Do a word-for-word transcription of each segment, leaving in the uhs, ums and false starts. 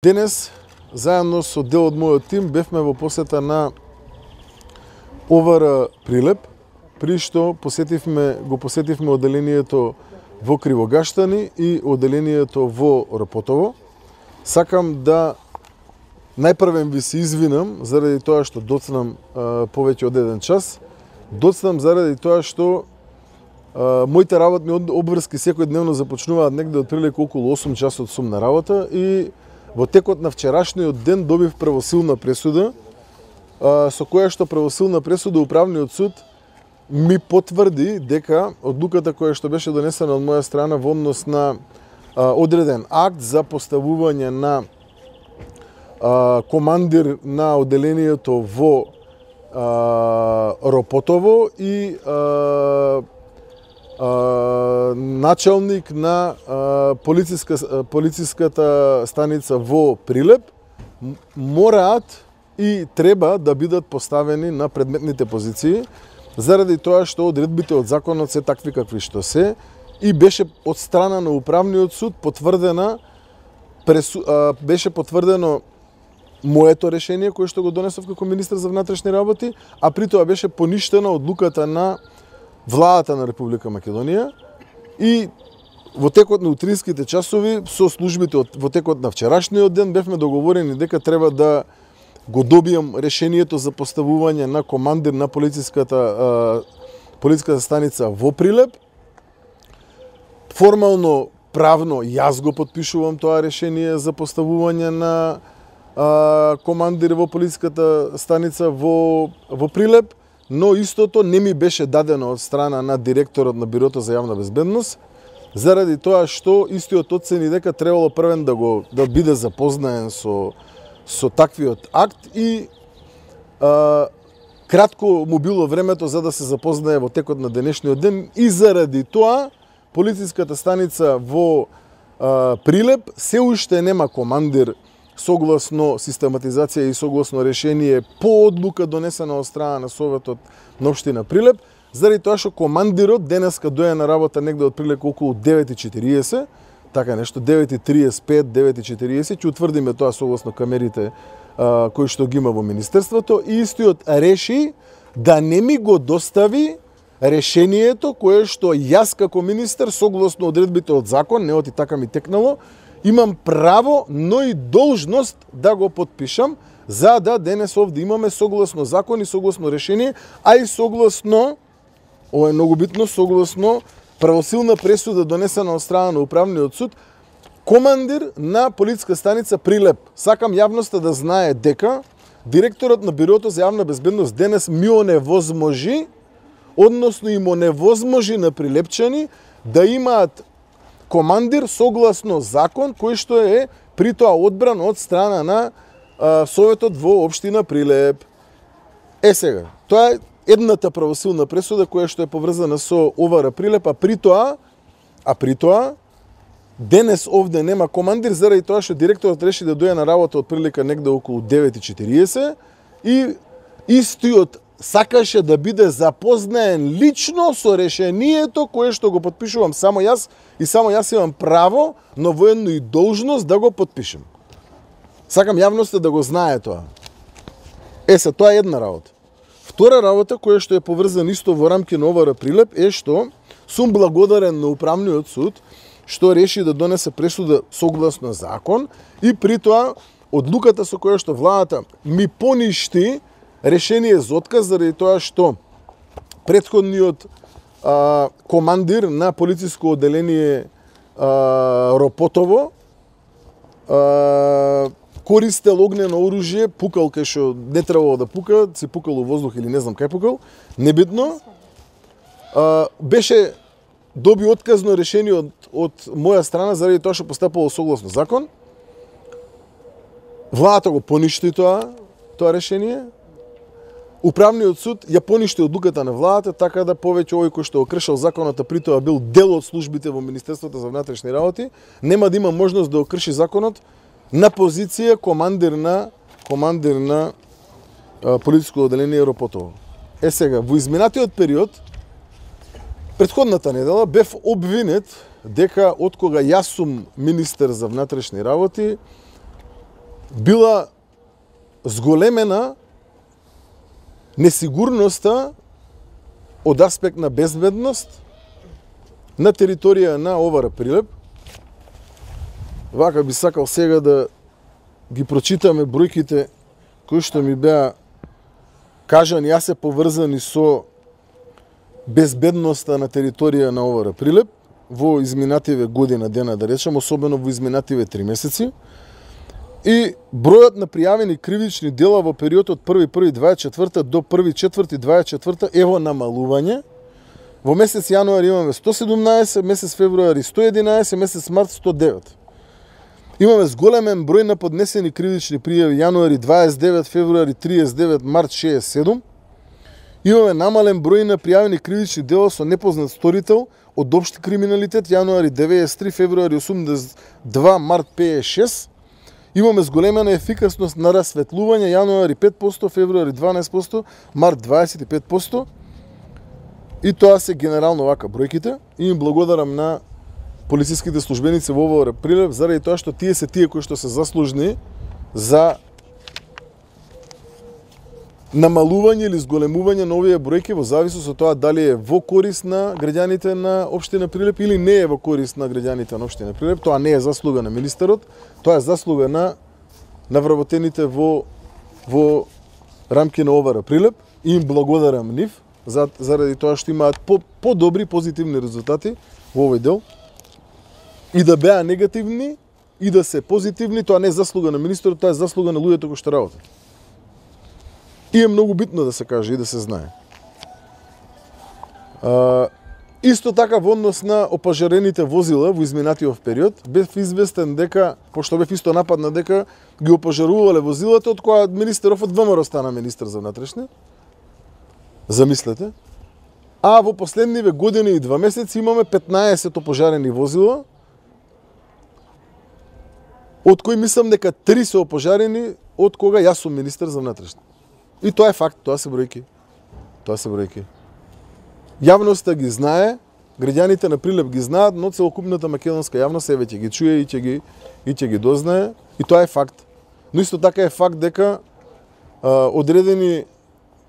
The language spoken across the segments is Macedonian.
Денес, заедно со дел од мојот тим, бевме во посета на О В Р Прилеп, при што посетивме, го посетивме оделението во Кривогаштани и оделението во Ропотово. Сакам да најпрвен ви се извинам заради тоа што доцнам а, повеќе од еден час. Доцнам заради тоа што а, моите работни обврски секојдневно започнуваат негде од прилика околу осум часот сум на работа и во текот на вчерашниот ден добив правосилна пресуда, а, со која што правосилна пресуда Управниот суд ми потврди дека одлуката која што беше донесена од моја страна во однос на а, одреден акт за поставување на а, командир на оделението во а, Ропотово и а, а, началник на а, полициска, полициската станица во Прилеп мораат и треба да бидат поставени на предметните позиции, заради тоа што одредбите од законот се такви какви што се и беше од страна на Управниот суд потврдена пресу, а, беше потврдено моето решение кое што го донесов како министер за внатрешни работи, а при тоа беше поништена одлуката на владата на Република Македонија и во текот на утринските часови со службите од, во текот на вчерашниот ден бевме договорени дека треба да го добијам решението за поставување на командир на полициската а, полициската станица во Прилеп. Формално, правно, јас го потпишувам тоа решение за поставување на а, командир во полициската станица во, во Прилеп, но истото не ми беше дадено од страна на директорот на Бирото за јавна безбедност, заради тоа што истиот оцени дека требало првен да го да биде запознаен со со таквиот акт и а, кратко му било времето за да се запознае во текот на денешниот ден и заради тоа полициската станица во а, Прилеп се уште нема командир согласно систематизација и согласно решение по одлука донесена од страна на Советот на општина Прилеп, заради тоа што командирот денеска доја на работа негде од прилика околу девет и четириесет, така нешто, девет и триесет и пет, девет и четириесет, ќе утврдиме тоа согласно камерите а, кои што ги има во Министерството, и истиот реши да не ми го достави решението кое што јас како министер, согласно одредбите од закон, не оти така ми текнало, имам право, но и должност да го потпишам, за да денес овде имаме согласно закон и согласно решение, а и согласно, ова е многу битно, согласно правосилна пресуда донесена од страна на Управниот суд, командир на полициска станица Прилеп. Сакам јавноста да знае дека директорот на Бирото за јавна безбедност денес ми оневозможи, односно им оневозможи на прилепчани да имаат командир согласно закон кој што е при тоа одбран од страна на а, Советот во општина Прилеп. Е сега, тоа е едната правосилна пресуда која што е поврзана со О В Р Прилеп, а при тоа, а при тоа денес овде нема командир заради тоа што директорот реши да дојде на работа од прилика негде околу девет и четириесет и истиот сакаше да биде запознаен лично со решението кое што го потпишувам само јас и само јас имам право, но воедно и должност да го потпишем. Сакам јавноста да го знае тоа. Е, се, тоа е една работа. Втора работа која што е поврзана исто во рамки на О В Р Прилеп е што сум благодарен на Управниот суд што реши да донесе пресуда согласно закон и при тоа одлуката со која што владата ми поништи решение за отказ заради тоа што претходниот а, командир на полициско оделение а, Ропотово а, користел огнено оружје, пукал кај што не требало да пука, се пукал у воздух или не знам кај пукал, небитно. А, беше доби отказно решение од, од моја страна заради тоа што постапало согласно закон. Владата го поништи тоа, тоа решение. Управниот суд ја поништи одлуката на владата, така да повеќе овој кој што го кршел законот, а при тоа бил дел од службите во Министерството за внатрешни работи, нема да има можност да го крши законот на позиција командир на командир на а, полициско оделение Ропотово. Е сега, во изминатиот период, претходната недела, бев обвинет дека откога јас сум министер за внатрешни работи, била зголемена несигурноста од аспект на безбедност на територија на Овара Прилеп. Вака би сакал сега да ги прочитаме бројките кои што ми беа кажани, јас се поврзани со безбедноста на територија на Овара Прилеп во изминативе година дена, да речем, особено во изминативе три месеци. И бројот на пријавени кривични дела во периодот од први први дваесет и четврта до први четврти дваесет и четврта е во намалување. Во месец јануари имаме сто седумнаесет, месец февруари сто единаесет, месец март сто девет. Имаме зголемен број на поднесени кривични пријави јануари дваесет и девет, февруари триесет и девет, март шеесет и седум. Имаме намален број на пријавени кривични дела со непознат сторител од општи криминалитет јануари деветдесет и три, февруари осумдесет и два, март петдесет и шест. Имаме зголемена ефикасност на расветлување јануари пет проценти, февруари дванаесет проценти, март дваесет и пет проценти. И тоа се генерално вака бројките. И им благодарам на полициските службеници во Овара Прилеп заради тоа што тие се тие кои што се заслужни за намалување или зголемување на овие бројки во зависност од тоа дали е во корист на граѓаните на општина Прилеп или не е во корист на граѓаните на општина Прилеп. Тоа не е заслуга на министерот, тоа е заслуга на навработените во во рамки на Овара Прилеп и им благодарам нив за, заради тоа што имаат по, по-добри позитивни резултати во овој дел. И да беа негативни и да се позитивни, тоа не е заслуга на министерот, тоа е заслуга на луѓето кои што работат. И е многу битно да се каже и да се знае. А, исто така во однос на опажарените возила во изминатиот период, бев известен дека, пошто бев исто нападна дека ги опажарувале возилата од која министеров од ВМРО стана министер за внатрешни. Замислете. А во последниве години и два месеци имаме петнаесет опожарени возила, од кои мислам дека три се опожарени од кога јас сум министер за внатрешни. И тоа е факт, тоа се бројки. Тоа се бројки. Јавноста ги знае, граѓаните на Прилеп ги знаат, но целокупната македонска јавност еве ќе ги чуе и ќе ги и ќе ги дознае, и тоа е факт. Но исто така е факт дека а, одредени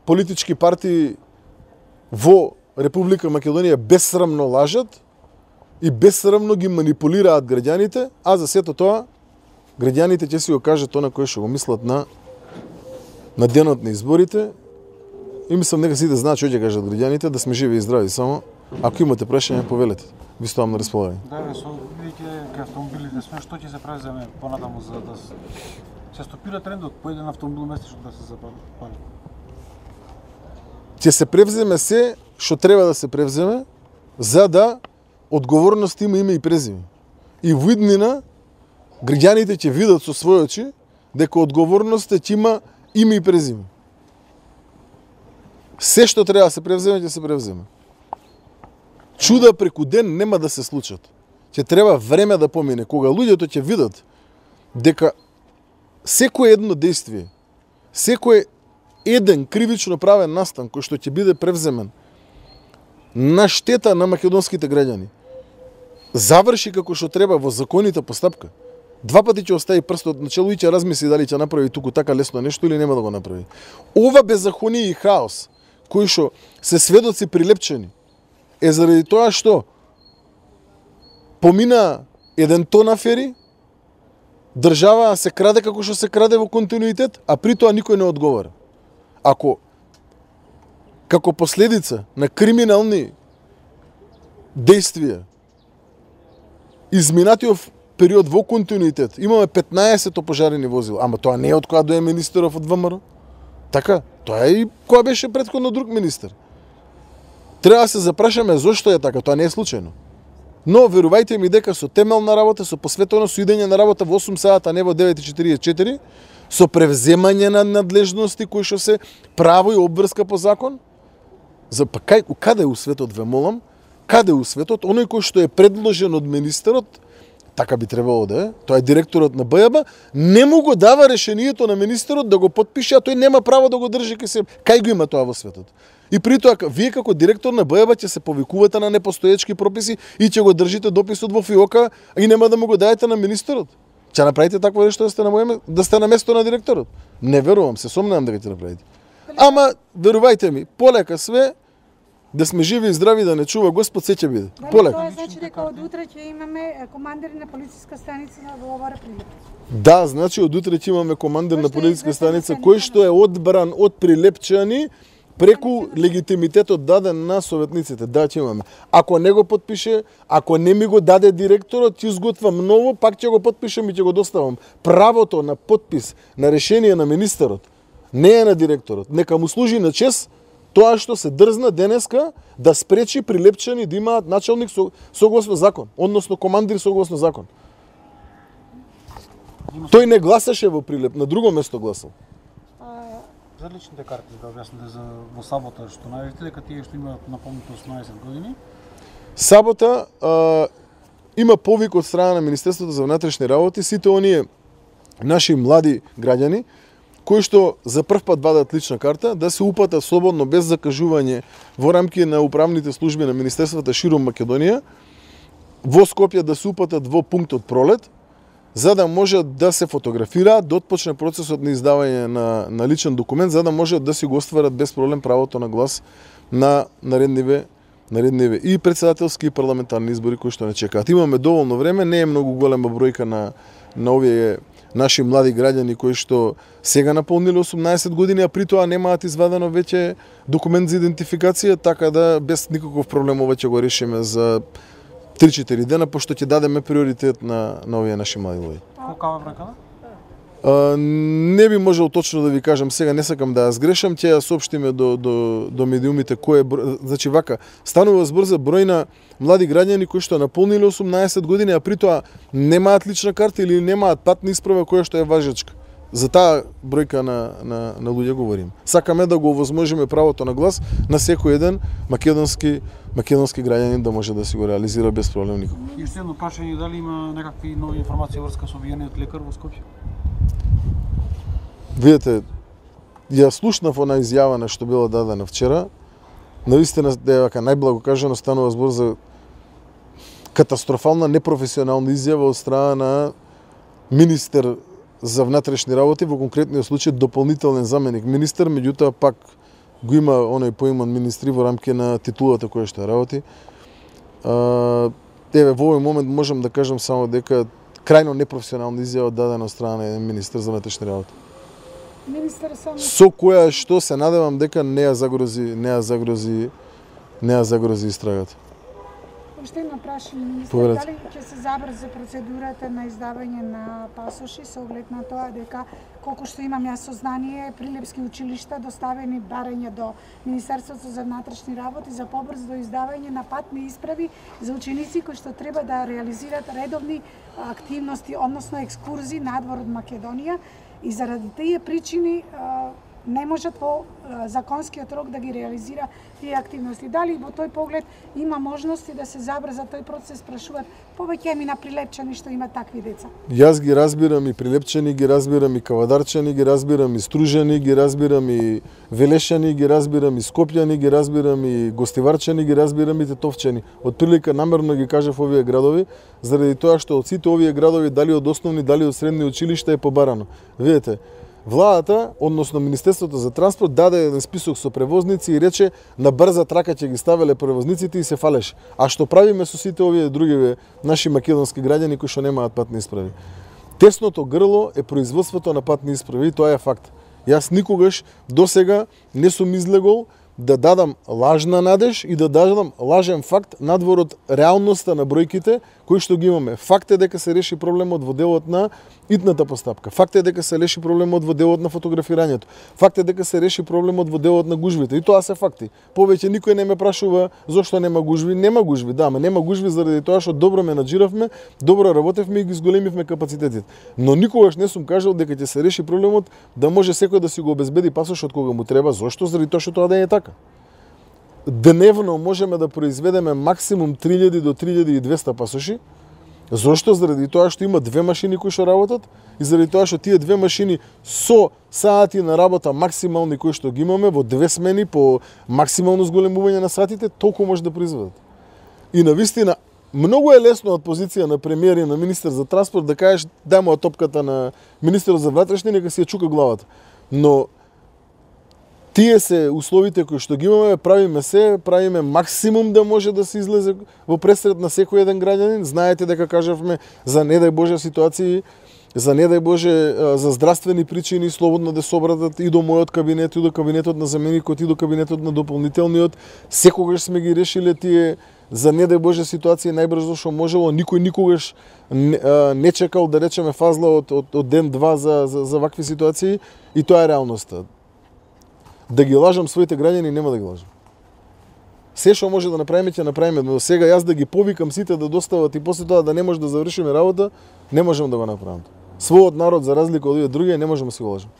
политички партии во Република Македонија безсрамно лажат и безсрамно ги манипулираат граѓаните, а за сето тоа граѓаните ќе си го кажат тоа на кој што го мислат на на денот на изборите. И мислам дека сите знаат што ќе кажат граѓаните, да сме живи и здрави само. Ако имате прашања, повелете. Ви стоам на располагање. Да, со бидејќи кај автомобилите сме, што ќе се преземе понатаму за да се стопира трендот по еден автомобил месечно да се запали? Ќе се превземе се што треба да се превземе за да одговорност има име и презиме. И во иднина граѓаните ќе видат со своји очи дека одговорноста ќе има име и презиме. Се што треба да се превземе, ќе се превземе. Чуда преку ден нема да се случат. Ќе треба време да помине, кога луѓето ќе видат дека секое едно действие, секој еден кривично правен настан кој што ќе биде превземен на штета на македонските граѓани, заврши како што треба во законита постапка, два пати ќе остави прстот на чело и ќе размисли дали ќе направи туку така лесно нешто или нема да го направи. Ова беззаконие и хаос, кои што се сведоци прилепчени, е заради тоа што помина еден тон афери, држава се краде како што се краде во континуитет, а при тоа никој не одговара. Ако како последица на криминални действија изминатиот период во континуитет имаме петнаесет опожарени возила, ама тоа не е од кога дое министеров од ВМРО. Така, тоа е и кога беше претходно друг министер. Треба да се запрашаме зошто е така, тоа не е случајно. Но верувајте ми дека со темелна работа, со посветено со идење на работа во осум сата, а не во девет и четиридесет и четири, со превземање на надлежности кои што се право и обврска по закон, за па кај каде у светот ве молам, каде у светот оној кој што е предложен од министерот, така би требало да е, тоа е директорот на Б Ј Б, не му го дава решението на министерот да го потпише, а тој нема право да го држи кај себе. Кај го има тоа во светот? И при тоа, вие како директор на Б Ј Б ќе се повикувате на непостоечки прописи и ќе го држите дописот во фиока и нема да му го даете на министерот. Ќе направите такво нешто да сте на моје, да сте на место на директорот? Не верувам, се сомневам дека ќе направите. Ама верувајте ми, полека све, да сме живи и здрави, да не чува Господ, се ќе биде. Полека. Тоа значи дека од утре ќе имаме командири на полициска станица во оваа Прилеп. Да, значи од утре ќе имаме командир на полициска станица кој што е одбран од прилепчани преку легитимитетот даден на советниците. Да, ќе имаме. Ако не го подпише, ако не ми го даде директорот, ќе изготвам ново, пак ќе го подпишам и ќе го доставам. Правото на подпис на решение на министерот не е на директорот. Нека му служи на чест тоа што се дрзна денеска да спречи прилепчани да имаат началник согласно закон, односно командир согласно закон. Тој не гласаше во Прилеп, на друго место гласал. За личните карти да објасните за во сабота што најавите дека тие што имаат наполнето осумнаесет години. Сабота а, има повик од страна на Министерството за внатрешни работи сите оние наши млади граѓани кои што за прв пат вадат лична карта да се упатат слободно без закажување во рамки на управните служби на министерствата широм Македонија во Скопје да се упатат во пунктот Пролет за да можат да се фотографираат, да отпочне процесот на издавање на, на личен документ, за да можат да си го остварат без проблем правото на глас на наредниве, наредниве и председателски и парламентарни избори кои што не чекаат. Имаме доволно време, не е многу голема бројка на, на овие наши млади граѓани кои што сега наполниле осумнаесет години, а при тоа немаат извадено веќе документ за идентификација, така да без никаков проблем ова ќе го решиме за три-четири дена, пошто ќе дадеме приоритет на, на овие наши млади луѓе. Колка е браката? Uh, не би можел точно да ви кажам сега, не сакам да ја сгрешам, ќе ја соопштиме до, до, до медиумите кој е број, значи вака, станува збор за број на млади граѓани кои што наполниле осумнаесет години, а при тоа немаат лична карта или немаат патна исправа која што е важечка. За таа бројка на, на, на луѓе говорим. Сакаме да го овозможиме правото на глас на секој еден македонски македонски граѓанин да може да си го реализира без проблем никако. И уште едно прашање, дали има некакви нови информации врска со обвиениот лекар во Скопје? Видете, ја слушнав она изјава што била дадена вчера. Навистина, дека најблаго кажано станува збор за катастрофална непрофесионална изјава од страна на министер за внатрешни работи, во конкретниот случај дополнителен заменик министер, меѓутоа пак го има оној поиман министри во рамки на титулата која што работи. А, еве, во овој момент можам да кажам само дека крајно непрофесионална изјава дадена од страна на еден министер за внатрешни работи. Министер само Со која што се надевам дека не ја загрози, не ја загрози, не ја загрози истрагата. Уште едно прашање, министер, Поведете. дали ќе се забрзи процедурата на издавање на пасоши со оглед на тоа дека колку што имам јас сознание, прилепски училишта доставени барања до Министерството за внатрешни работи за побрзо издавање на патни исправи за ученици кои што треба да реализираат редовни активности, односно екскурзии надвор од Македонија и заради тие причини не можат во законскиот рок да ги реализира тие активности. Дали во тој поглед има можности да се забрза тој процес, прашуваат повеќе ми на прилепчани што имаат такви деца? Јас ги разбирам и прилепчани, ги разбирам и кавадарчани, ги разбирам и стружени, ги разбирам и велешани, ги разбирам и скопјани, ги разбирам и гостиварчани, ги разбирам и тетовчани. Од прилика намерно ги кажав овие градови, заради тоа што од сите овие градови, дали од основни, дали од средни училишта е побарано. Видете, владата, односно Министерството за транспорт, даде еден список со превозници и рече на брза трака ќе ги ставеле превозниците и се фалеше. А што правиме со сите овие други наши македонски граѓани кои што немаат патни исправи? Тесното грло е производството на патни исправи и тоа е факт. Јас никогаш досега не сум излегол да дадам лажна надеж и да дадам лажен факт надвор од реалноста на бројките кои што ги имаме. Факт е дека се реши проблемот во делот на итната постапка. Факт е дека се реши проблемот во делот на фотографирањето. Факт е дека се реши проблемот во делот на гужвите. И тоа се факти. Повеќе никој не ме прашува зошто нема гужви. Нема гужви, да, ама нема гужви заради тоа што добро менаџиравме, добро работевме и ги зголемивме капацитетите. Но никогаш не сум кажал дека ќе се реши проблемот да може секој да си го обезбеди пасошот кога му треба. Зошто? Заради тоа што тоа да е така. Дневно можеме да произведеме максимум три илјади до три илјади и двесте пасоши. Зошто? Заради тоа што има две машини кои што работат и заради тоа што тие две машини со сати на работа максимални кои што ги имаме во две смени по максимално зголемување на сатите, толку може да произведат. И навистина многу е лесно од позиција на премиер и на министер за транспорт да кажеш дај топката на министерот за внатрешни, нека си ја чука главата. Но тие се условите кои што ги имаме, правиме се, правиме максимум да може да се излезе во пресред на секој еден граѓанин. Знаете дека кажавме за не дај Боже ситуации, за не дај Боже за здравствени причини слободно да се обратат и до мојот кабинет, и до кабинетот на заменикот, и до кабинетот на дополнителниот. Секогаш сме ги решиле тие за не дај Боже ситуации најбрзо што можело. Никој никогаш не, не чекал да речеме фазла од, од, од ден-два за, за, за вакви ситуации и тоа е реалноста. Да ги лажам своите граѓани, нема да ги лажам. Се што може да направиме, ќе направиме, но сега јас да ги повикам сите да достават и после тоа да не може да завршиме работа, не можам да го направам. Својот народ, за разлика од овие други, не можеме да си го лажам.